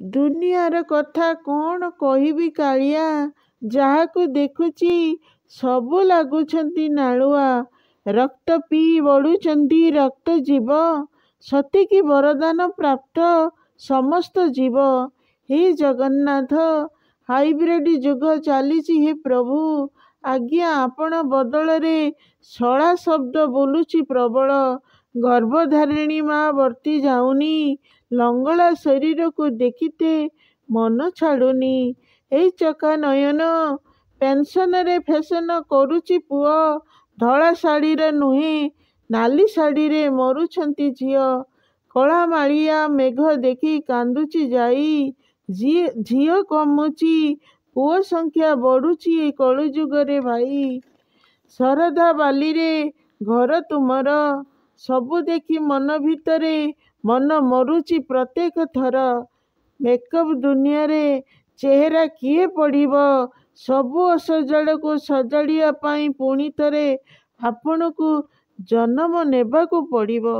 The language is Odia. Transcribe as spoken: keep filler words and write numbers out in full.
ଦୁନିଆର କଥା କ'ଣ କହିବି କାଳିଆ, ଯାହାକୁ ଦେଖୁଛି ସବୁ ଲାଗୁଛନ୍ତି ନାଳୁଆ। ରକ୍ତ ପିଇ ବଢ଼ୁଛନ୍ତି ରକ୍ତ ଜୀବ, ସତେକି ବରଦାନ ପ୍ରାପ୍ତ ସମସ୍ତ ଜୀବ। ହେ ଜଗନ୍ନାଥ, ହାଇବ୍ରିଡ୍ ଯୁଗ ଚାଲିଛି ହେ ପ୍ରଭୁ। ଆଜ୍ଞା ଆପଣ ବଦଳରେ ଶଳା ଶବ୍ଦ ବୋଲୁଛି ପ୍ରବଳ। ଗର୍ଭଧାରିଣୀ ମା ବର୍ତ୍ତି ଯାଉନି, ଲଙ୍ଗଳା ଶରୀରକୁ ଦେଖିତେ ମନ ଛାଡ଼ୁନି। ଏଇ ଚକା ନୟନ, ପେନ୍ସନରେ ଫେସନ କରୁଛି ପୁଅ, ଧଳା ଶାଢ଼ୀରେ ନୁହେଁ ନାଲି ଶାଢ଼ୀରେ ମରୁଛନ୍ତି ଝିଅ। କଳା ମାଳିଆ ମେଘ ଦେଖି କାନ୍ଦୁଛି ଯାଇ, ଝିଅ କମୁଛି ପୁଅ ସଂଖ୍ୟା ବଢ଼ୁଛି ଏ କଳିଯୁଗରେ ଭାଇ। ଶରଧା ବାଲିରେ ଘର ତୁମର, ସବୁ ଦେଖି ମନ ଭିତରେ ମନ ମରୁଛି ପ୍ରତ୍ୟେକ ଥର। ମେକଅପ୍ ଦୁନିଆରେ ଚେହେରା କିଏ ପଢ଼ିବ, ସବୁ ଅସଜଡ଼ାକୁ ସଜାଡ଼ିବା ପାଇଁ ପୁଣିଥରେ ଆପଣଙ୍କୁ ଜନମ ନେବାକୁ ପଡ଼ିବ।